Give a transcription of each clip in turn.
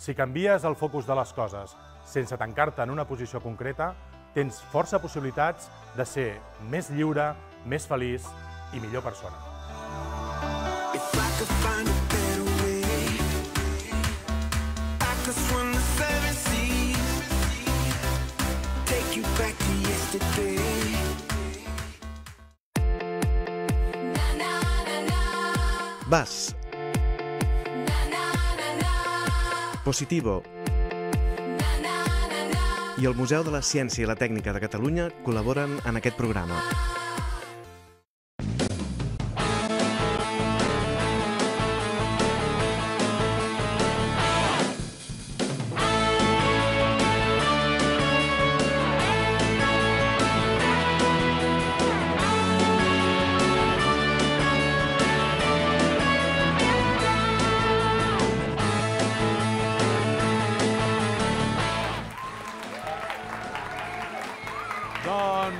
Si canvies el focus de les coses sense tancar-te en una posició concreta, tens força possibilitats de ser més lliure, més feliç i millor persona. VAS. Positivo. I el Museu de la Ciència i la Tècnica de Catalunya col·laboren en aquest programa.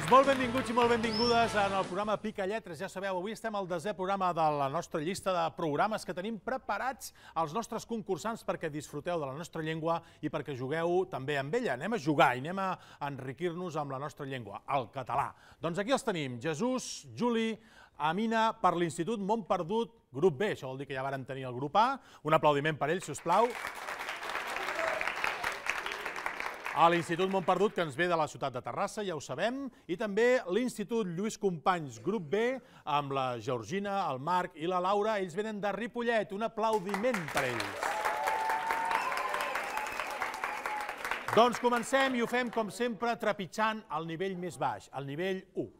Molt benvinguts i molt benvingudes en el programa Pica Lletres. Ja sabeu, avui estem al 10è programa de la nostra llista de programes que tenim preparats als nostres concursants perquè disfruteu de la nostra llengua i perquè jugueu també amb ella. Anem a jugar i anem a enriquir-nos amb la nostra llengua, el català. Doncs aquí els tenim, Jesús, Juli, Amina, per l'Institut Montperdut, grup B. Això vol dir que ja vàrem tenir el grup A. Un aplaudiment per ells, si us plau. A l'Institut Montperdut, que ens ve de la ciutat de Terrassa, ja ho sabem, i també l'Institut Lluís Companys, grup B, amb la Georgina, el Marc i la Laura. Ells venen de Ripollet. Un aplaudiment per ells. Doncs comencem i ho fem, com sempre, trepitjant el nivell més baix, el nivell 1.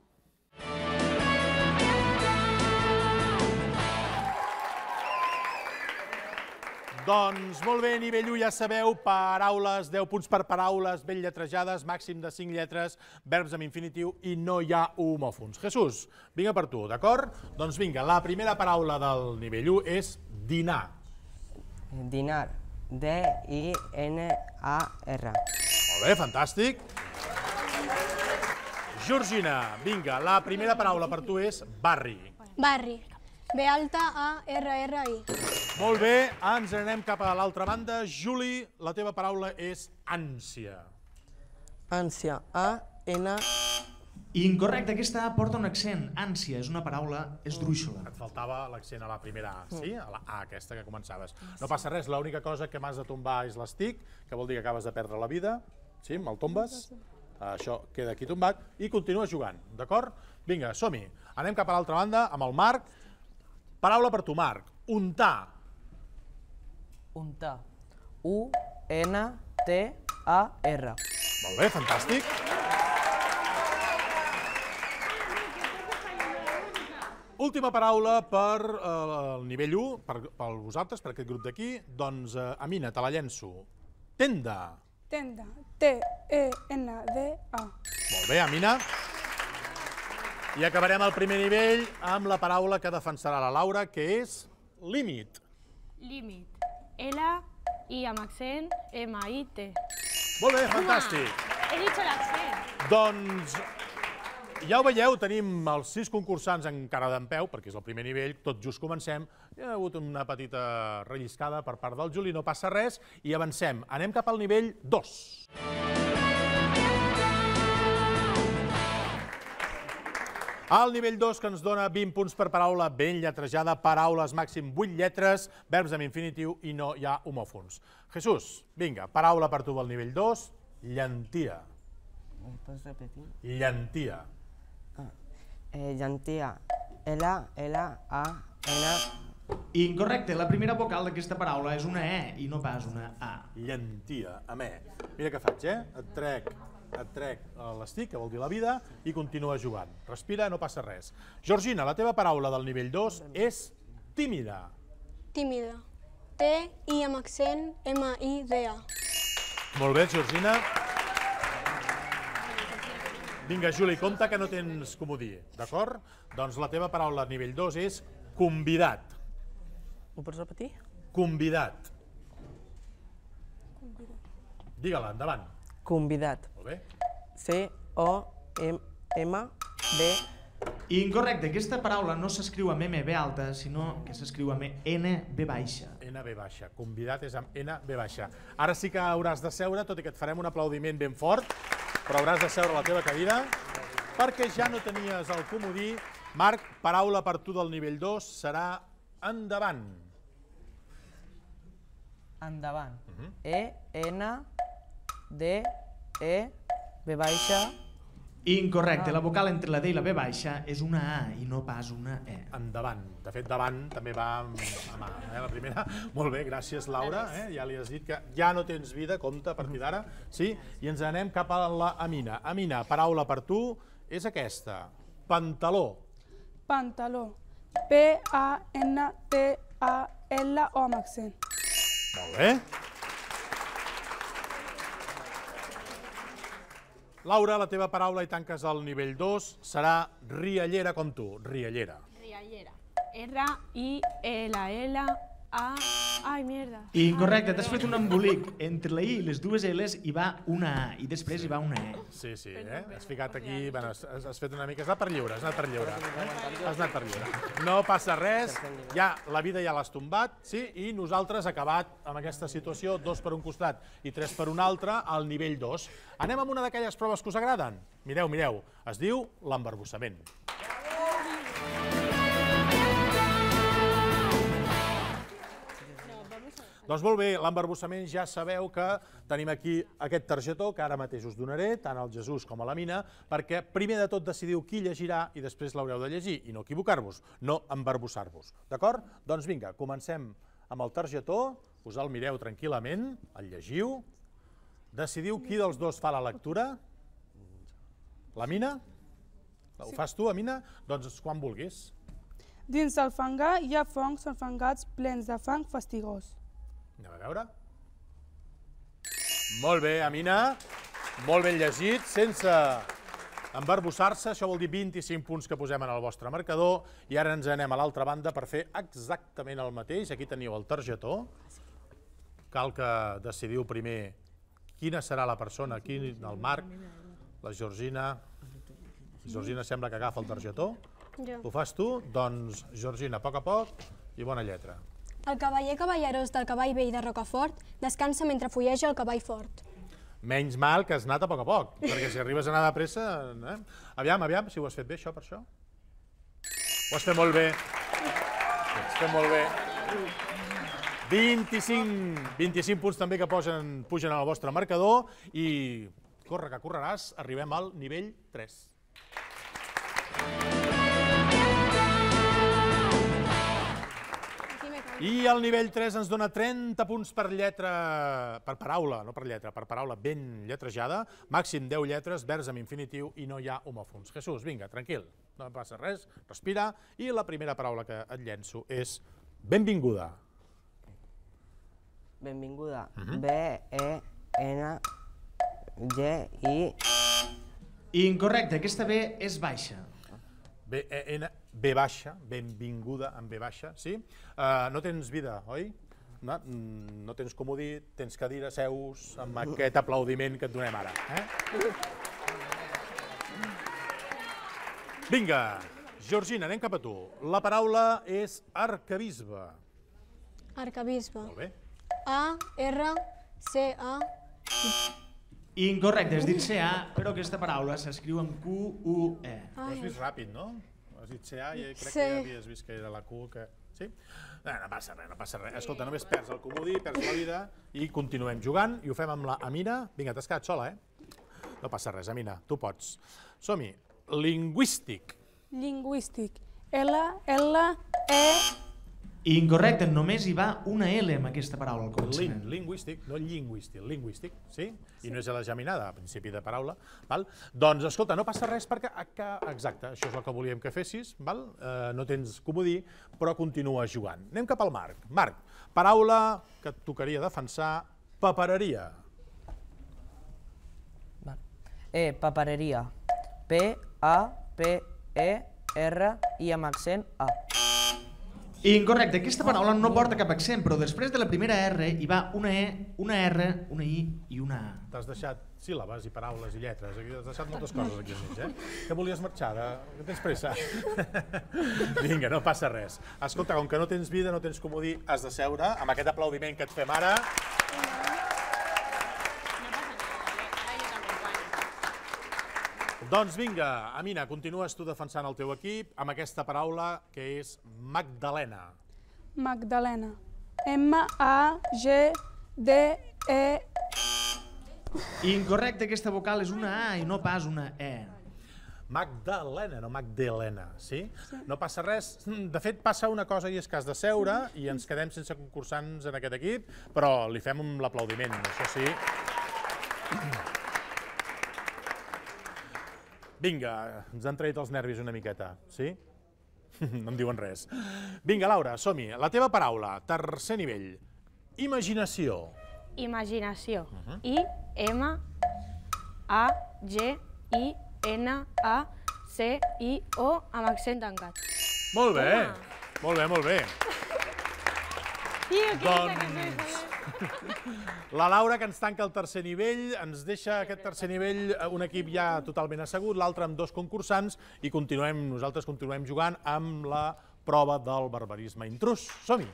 Doncs molt bé, nivell 1, ja sabeu, paraules, 10 punts per paraules, ben lletrejades, màxim de 5 lletres, verbs amb infinitiu i no hi ha homòfons. Jesús, vinga per tu, d'acord? Doncs vinga, la primera paraula del nivell 1 és dinar. Dinar, D-I-N-A-R. Molt bé, fantàstic. Georgina, vinga, la primera paraula per tu és barri. Barri. B-A-R-R-I. Molt bé, ens anem cap a l'altra banda. Juli, la teva paraula és ànsia. Ànsia, A-N... Incorrecte, aquesta A porta un accent. Ànsia és una paraula esdrúixola. Et faltava l'accent a la primera A, sí? A la A aquesta que començaves. No passa res, l'única cosa que m'has de tombar és l'estic, que vol dir que acabes de perdre la vida. Sí, me'l tombes. Això queda aquí tombat i continua jugant, d'acord? Vinga, som-hi. Anem cap a l'altra banda amb el Marc. Paraula per tu, Marc. Untar. Untar. U-N-T-A-R. Molt bé, fantàstic. Última paraula per el nivell 1, per vosaltres, per aquest grup d'aquí. Doncs, Amina, te la llenço. Tenda. Tenda. T-E-N-D-A. Molt bé, Amina. I acabarem el primer nivell amb la paraula que defensarà la Laura, que és límit. Límit. L-I amb accent, M-I-T. Molt bé, fantàstic. He dit l'accent. Doncs, ja ho veieu, tenim els 6 concursants encara dempeus, perquè és el primer nivell, tot just comencem. Hi ha hagut una petita relliscada per part del Juli, no passa res, i avancem. Anem cap al nivell 2. Al nivell 2, que ens dona 20 punts per paraula ben lletrejada, paraules màxim 8 lletres, verbs amb infinitiu i no hi ha homòfons. Jesús, vinga, paraula per tu del nivell 2, llentia. Pots repetir? Llentia. Llentia. L-L-A-N... Incorrecte, la primera vocal d'aquesta paraula és una E i no pas una A. Llentia, amb E. Mira què faig, Et trec l'estic, que vol dir la vida, i continua jugant. Respira, no passa res. Georgina, la teva paraula del nivell 2 és tímida. Tímida. T-I amb accent, M-I-D-A. Molt bé, Georgina. Vinga, Juli, compte que no tens comodí, d'acord? Doncs la teva paraula al nivell 2 és convidat. Ho pots repetir? Convidat. Digue-la, endavant. Convidat. Molt bé. C-O-M-B-I-D-A-T. Incorrecte, aquesta paraula no s'escriu amb MB alta, sinó que s'escriu amb NB baixa. NB baixa. Convidat és amb NB baixa. Ara sí que hauràs de seure, tot i que et farem un aplaudiment ben fort, però hauràs de seure a la teva cadira, perquè ja no tenies el comodí. Marc, paraula per tu del nivell 2 serà endavant. Endavant. E-N-D-E, B baixa. Incorrecte, la vocal entre la D i la B baixa és una A i no pas una E. Endavant. De fet, davant també va amb A, la primera. Molt bé, gràcies, Laura. Ja li has dit que ja no tens vida, compte, a partir d'ara. Sí? I ens anem cap a la Amina. Amina, paraula per tu és aquesta. Pantaló. Pantaló. P-A-N-T-A-L-O amb accent. Molt bé. Laura, la teva paraula i tanques el nivell 2 serà riallera com tu, riallera. Riallera. R-I-L-L-A... Ai, mierda. Incorrecte, t'has fet un embolic. Entre la I i les dues L's hi va una A i després hi va una E. Sí, has ficat aquí, bueno, has fet una mica, has anat per lliure, has anat per lliure. No passa res, ja la vida ja l'has tombat, sí, i nosaltres acabat amb aquesta situació, 2 per un costat i 3 per un altre, al nivell 2. Anem amb una d'aquelles proves que us agraden. Mireu, es diu l'embarbussament. Doncs molt bé, l'embarbussament ja sabeu que tenim aquí aquest targetó que ara mateix us donaré, tant al Jesús com a la Mina, perquè primer de tot decidiu qui llegirà i després l'haureu de llegir i no equivocar-vos, no embarbussar-vos. D'acord? Doncs vinga, comencem amb el targetó, us el mireu tranquil·lament, el llegiu, decidiu qui dels dos fa la lectura. La Mina? Ho fas tu, Amina? Doncs quan vulguis. Dins el fangar hi ha fongs enfangats plens de fang fastigós. Anem a veure. Molt bé, Amina. Molt ben llegit, sense embarbussar-se. Això vol dir 25 punts que posem en el vostre marcador. I ara ens anem a l'altra banda per fer exactament el mateix. Aquí teniu el targetó. Cal que decidiu primer quina serà la persona. Aquí el Marc, la Georgina. Georgina sembla que agafa el targetó. Ho fas tu? Doncs, Georgina, a poc i bona lletra. El cavaller cavallerós del cavall vell de Rocafort descansa mentre fulleja el cavall fort. Menys mal que has anat a poc, perquè si arribes a anar de pressa... Aviam, si ho has fet bé, això, per això. Ho has fet molt bé. Ho has fet molt bé. 25 punts també que pugen al vostre marcador i corre que correràs, arribem al nivell 3. I el nivell 3 ens dona 30 punts per lletra, per paraula, no per lletra, per paraula ben lletrejada, màxim 10 lletres, verbs amb infinitiu i no hi ha homòfons. Jesús, vinga, tranquil, no passa res, respira, i la primera paraula que et llenço és benvinguda. Benvinguda. B-E-N-G-I... Incorrecte, aquesta B és baixa. B baixa, benvinguda amb B baixa, sí? No tens vida, oi? No tens comodí, tens cadira, seus, amb aquest aplaudiment que et donem ara. Vinga, Georgina, anem cap a tu. La paraula és arquebisbe. Arquebisbe. Molt bé. A-R-C-A... Incorrecte, has dit CA, però aquesta paraula s'escriu amb Q-U-E. Ho has vist ràpid, no? Has dit CA i crec que ja havies vist que era la Q, que... Sí? No passa res. Escolta, només perds el comodí, perds la vida i continuem jugant i ho fem amb la Amina. Vinga, t'has quedat sola, No passa res, Amina, tu pots. Som-hi. Lingüístic. Lingüístic. L-L-E... Incorrecte, només hi va una L amb aquesta paraula al començament. Lingüístic, no lingüístic, lingüístic, sí? I no és a la geminada, a principi de paraula. Doncs, escolta, no passa res perquè... Exacte, això és el que volíem que fessis, no tens comodí, però continues jugant. Anem cap al Marc. Marc, paraula que et tocaria defensar, papereria. Papereria. P-A-P-E-R-I amb accent A. Incorrecte, aquesta paraula no porta cap accent, però després de la primera R hi va una E, una R, una I i una A. T'has deixat síl·labes i paraules i lletres, aquí has deixat moltes coses aquí al mig, Que volies marxar? Que tens pressa? Vinga, no passa res. Escolta, com que no tens vida, no tens comodí, has de seure amb aquest aplaudiment que et fem ara. Doncs vinga, Amina, continues tu defensant el teu equip amb aquesta paraula que és Magdalena. Magdalena. M-A-G-D-E... Incorrecte, aquesta vocal és una A i no pas una E. Magdalena, no Magdalena, sí? No passa res. De fet, passa una cosa i és que has de seure i ens quedem sense concursants en aquest equip, però li fem l'aplaudiment, això sí. Vinga, ens han traït els nervis una miqueta, sí? No em diuen res. Vinga, Laura, som-hi. La teva paraula, tercer nivell. Imaginació. Imaginació. I-M-A-G-I-N-A-C-I-O amb accent tancat. Molt bé, molt bé, molt bé. Doncs... La Laura, que ens tanca el tercer nivell, ens deixa aquest tercer nivell un equip ja totalment assegut, l'altre amb 2 concursants, i nosaltres continuem jugant amb la prova del barbarisme intrus. Som-hi!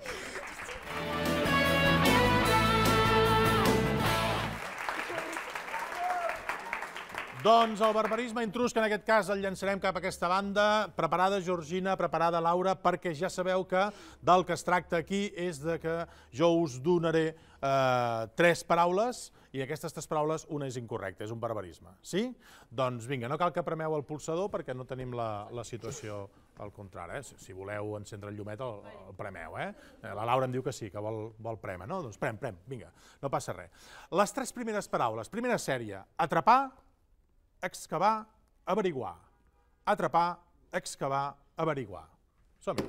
Doncs el barbarisme intrus, que en aquest cas el llançarem cap a aquesta banda. Preparada, Georgina, preparada, Laura, perquè ja sabeu que del que es tracta aquí és de que jo us donaré 3 paraules i aquestes 3 paraules una és incorrecta, és un barbarisme. Sí? Doncs vinga, no cal que premeu el pulsador perquè no tenim la situació al contrari. Si voleu encendre el llumet el premeu. La Laura em diu que sí, que vol prémer. No? Doncs prem, vinga, no passa res. Les 3 primeres paraules. Primera sèrie, atrapar, excavar, averiguar. Atrapar, excavar, averiguar. Som-hi.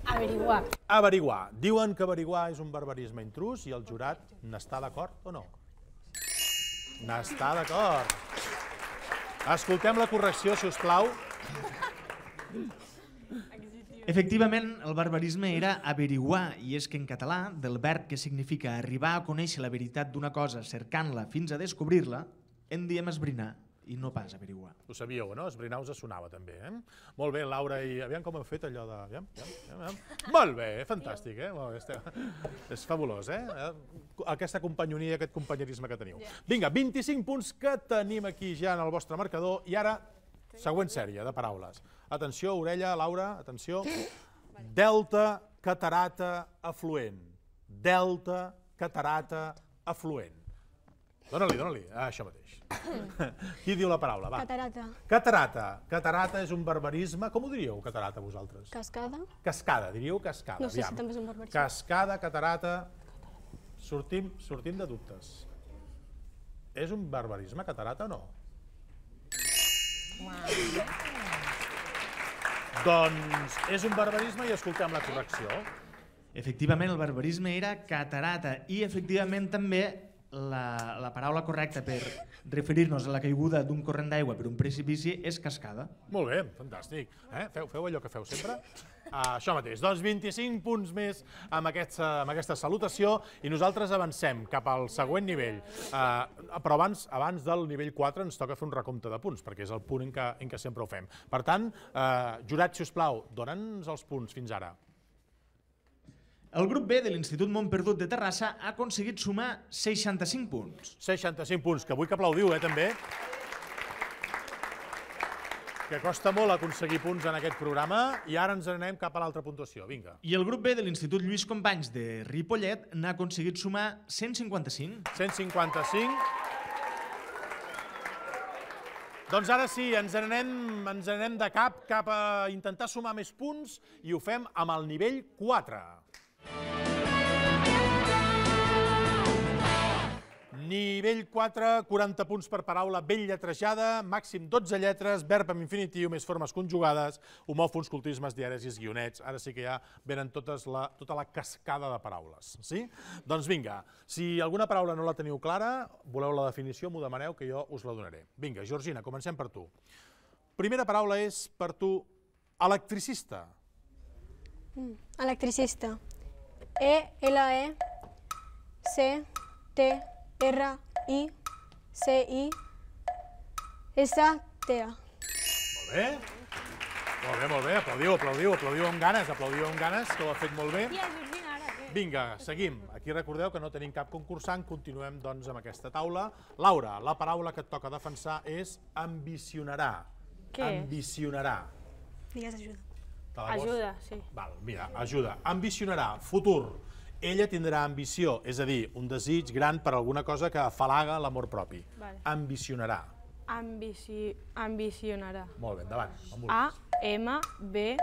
Averiguar. Averiguar. Diuen que averiguar és un barbarisme intrus i el jurat n'està d'acord o no? N'està d'acord. Escoltem la correcció, si us plau. Efectivament, el barbarisme era averiguar, i és que en català, del verb que significa arribar a conèixer la veritat d'una cosa cercant-la fins a descobrir-la, en diem esbrinar i no pas averiguar. Ho sabíeu, no? Esbrinar us sonava també, Molt bé, Laura, i aviam com heu fet allò de... Aviam. Molt bé, fantàstic, És fabulós, Aquesta companyonia, aquest companyerisme que teniu. Vinga, 25 punts que tenim aquí ja en el vostre marcador i ara, següent sèrie de paraules. Atenció, orella, Laura, atenció. Delta, catarata, afluent. Delta, catarata, afluent. Dóna-li, això mateix. Qui diu la paraula? Va. Catarata. Catarata. Catarata és un barbarisme. Com ho diríeu, catarata, vosaltres? Cascada. Cascada, diríeu cascada. No sé si també és un barbarisme. Cascada, catarata... Sortim de dubtes. És un barbarisme, catarata, o no? Doncs és un barbarisme i escoltem la correcció. Efectivament, el barbarisme era catarata i efectivament també la paraula correcta per referir-nos a la caiguda d'un corrent d'aigua per un precipici és cascada. Molt bé, fantàstic. Feu allò que feu sempre. Això mateix, doncs 25 punts més amb aquesta salutació i nosaltres avancem cap al següent nivell. Però abans del nivell 4 ens toca fer un recompte de punts, perquè és el punt en què sempre ho fem. Per tant, jurat, si us plau, dona'ns els punts fins ara. El grup B de l'Institut Montperdut de Terrassa ha aconseguit sumar 65 punts. 65 punts, que vull que aplaudiu, també. Que costa molt aconseguir punts en aquest programa i ara ens anem cap a l'altra puntuació. Vinga. I el grup B de l'Institut Lluís Companys de Ripollet n'ha aconseguit sumar 155. 155. Doncs ara sí, ens anem de cap a intentar sumar més punts i ho fem amb el nivell 4. Nivell 4, 40 punts per paraula ben lletrejada, màxim 12 lletres, verb amb infinitiu, més formes conjugades, homòfons, cultismes, diaresis, guionets. Ara sí que ja venen tota la cascada de paraules. Sí? Doncs vinga, si alguna paraula no la teniu clara, voleu la definició, m'ho demaneu que jo us la donaré. Vinga, Georgina, comencem per tu. Primera paraula és per tu electricista. Electricista. E-L-E-C-T-R-I-C-I-S-T-A. Molt bé. Molt bé. Aplaudiu amb ganes, que ho ha fet molt bé. Vinga, seguim. Aquí recordeu que no tenim cap concursant, continuem doncs amb aquesta taula. Laura, la paraula que et toca defensar és ambicionarà. Què és? Digues ajuda. Ajuda, sí. Val, mira, ajuda. Ambicionarà, futur. Ella tindrà ambició, és a dir, un desig gran per alguna cosa que afalaga l'amor propi. Ambicionarà. Ambicionarà. Molt bé, endavant. A-M-B-C...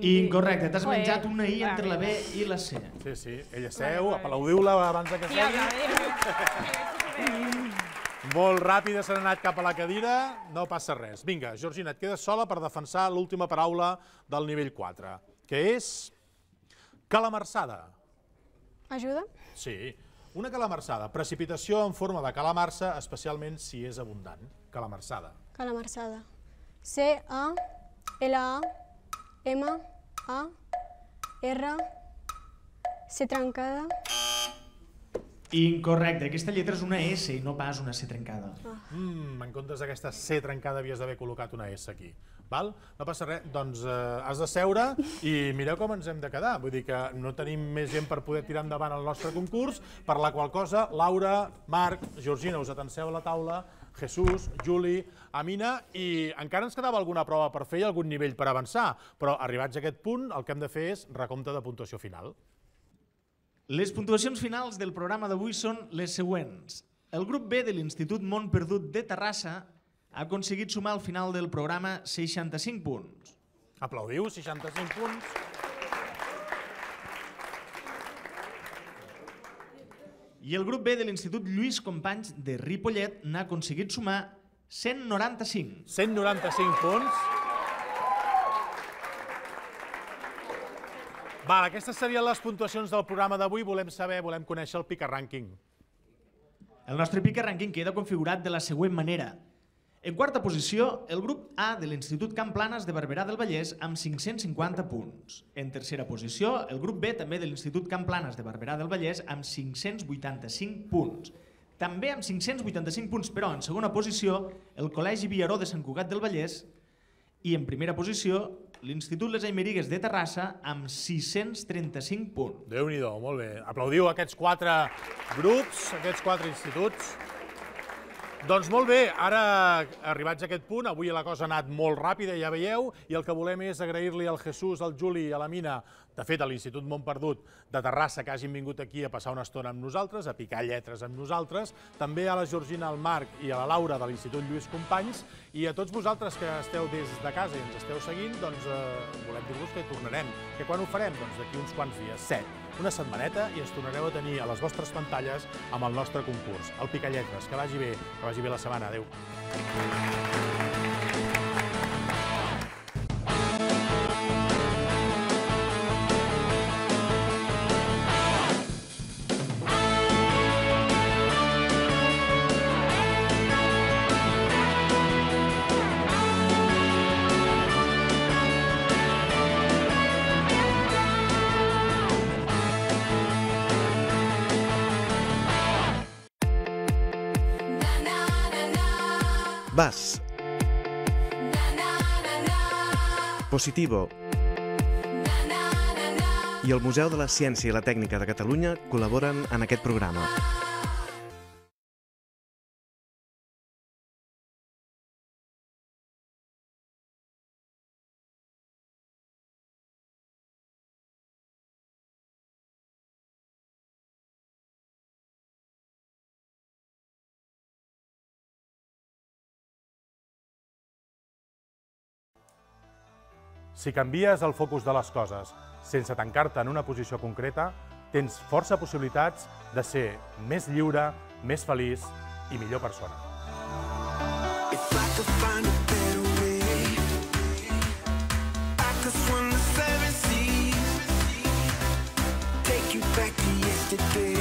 Incorrecte, t'has menjat una I entre la B i la C. Sí, ella seu, aplaudiu-la abans que segui. Molt ràpida, s'ha anat cap a la cadira, no passa res. Vinga, Georgina, et quedes sola per defensar l'última paraula del nivell 4, que és calamarsada. Ajuda? Sí, una calamarsada, precipitació en forma de calamarsa, especialment si és abundant. Calamarsada. Calamarsada. C-A-L-A-M-A-R-C trencada. Incorrecte, aquesta lletra és una S i no pas una C trencada. En comptes d'aquesta C trencada havies d'haver col·locat una S aquí. Val? No passa res, doncs has de seure i mireu com ens hem de quedar. Vull dir que no tenim més gent per poder tirar endavant el nostre concurs, per la qual cosa Laura, Marc, Georgina, us atanseu a la taula, Jesús, Juli, Amina, i encara ens quedava alguna prova per fer i algun nivell per avançar, però arribats a aquest punt el que hem de fer és recompte de puntuació final. Les puntuacions finals del programa d'avui són les següents. El grup B de l'Institut Mont Perdut de Terrassa ha aconseguit sumar al final del programa 65 punts. Aplaudiu, 65 punts. I el grup B de l'Institut Lluís Companys de Ripollet n'ha aconseguit sumar 195. 195 punts. Val, aquestes serien les puntuacions del programa d'avui. Volem conèixer el Pica Rànquing. El nostre Pica Rànquing queda configurat de la següent manera. En quarta posició, el grup A de l'Institut Camp Planas de Barberà del Vallès amb 550 punts. En tercera posició, el grup B també de l'Institut Camp Planas de Barberà del Vallès amb 585 punts. També amb 585 punts, però en segona posició, el Col·legi Villaró de Sant Cugat del Vallès i en primera posició, l'Institut Les Aymerigues de Terrassa amb 635 punts. Déu-n'hi-do, molt bé. Aplaudiu aquests 4 grups, aquests 4 instituts. Doncs molt bé, ara arribats a aquest punt, avui la cosa ha anat molt ràpida, ja veieu, i el que volem és agrair-li al Jesús, al Juli i a la Mina, de fet a l'Institut Mont Perdut de Terrassa, que hagin vingut aquí a passar una estona amb nosaltres, a picar lletres amb nosaltres, també a la Georgina, al Marc i a la Laura de l'Institut Lluís Companys, i a tots vosaltres que esteu des de casa i ens esteu seguint, doncs volem dir-vos que tornarem. Que quan ho farem? Doncs d'aquí uns quants dies, 7. Una setmaneta i ens tornareu a tenir a les vostres pantalles amb el nostre concurs, el Pica Lletres. Que vagi bé la setmana. Adéu. VAS. Positivo. I el Museu de la Ciència i la Tècnica de Catalunya col·laboren en aquest programa. Si canvies el focus de les coses sense tancar-te en una posició concreta, tens força possibilitats de ser més lliure, més feliç i millor persona. Take you back to yesterday.